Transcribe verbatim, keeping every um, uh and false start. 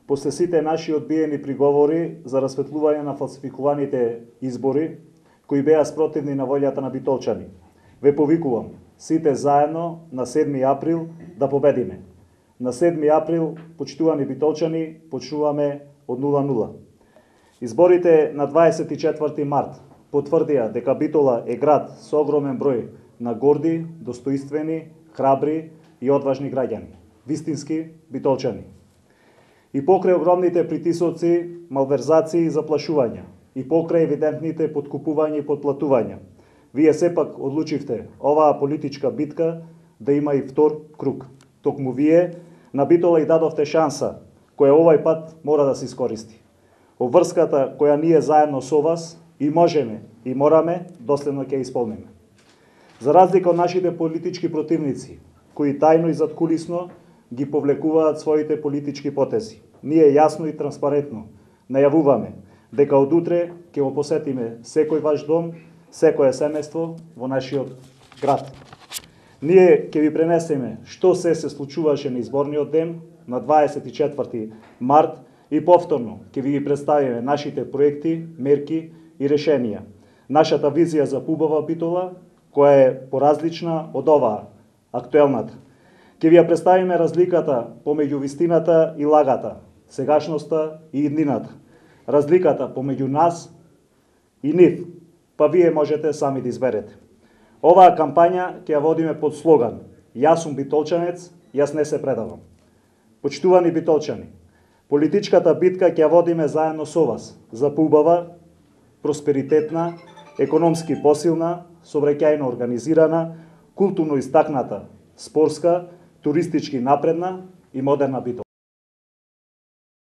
после сите наши одбиени приговори за расветлување на фалсификуваните избори, кои беа спротивни на волјата на битолчани. Ве повикувам сите заедно на седми април да победиме. На седми април, почитувани битолчани, почнуваме од нула нула. Изборите на дваесет и четврти март потврдија дека Битола е град со огромен број на горди, достоинствени, храбри и одважни граѓани, вистински битолчани. И покрај огромните притисоци, малверзации и заплашувања, и покрај евидентните подкупувања и подплатувања, вие сепак одлучивте оваа политичка битка да има и втор круг. Токму вие на Битола и дадовте шанса, која овај пат мора да се искористи. Обврската која ние заедно со вас и можеме и мораме доследно ќе исполниме. За разлика од нашите политички противници, кои тајно и задкулисно ги повлекуваат своите политички потези, ние јасно и транспарентно најавуваме дека од утре ќе го посетиме секој ваш дом, секое семејство во нашиот град. Ние ќе ви пренесеме што се се случуваше на изборниот ден на дваесет и четврти март и повторно ќе ви ги представиме нашите проекти, мерки и решенија. Нашата визија за поубава Битола, која е поразлична од оваа, актуелната. Ќе ви ја представиме разликата помеѓу вистината и лагата, сегашноста и иднината. Разликата помеѓу нас и нив, па вие можете сами да изберете. Оваа кампања ќе ја водиме под слоган "Јас сум битолчанец, јас не се предавам". Почитувани битолчани, политичката битка ќе ја водиме заедно со вас за поубава, просперитетна, економски посилна, сообраќајно организирана, културно истакната, спорска, туристички напредна и модерна Битола.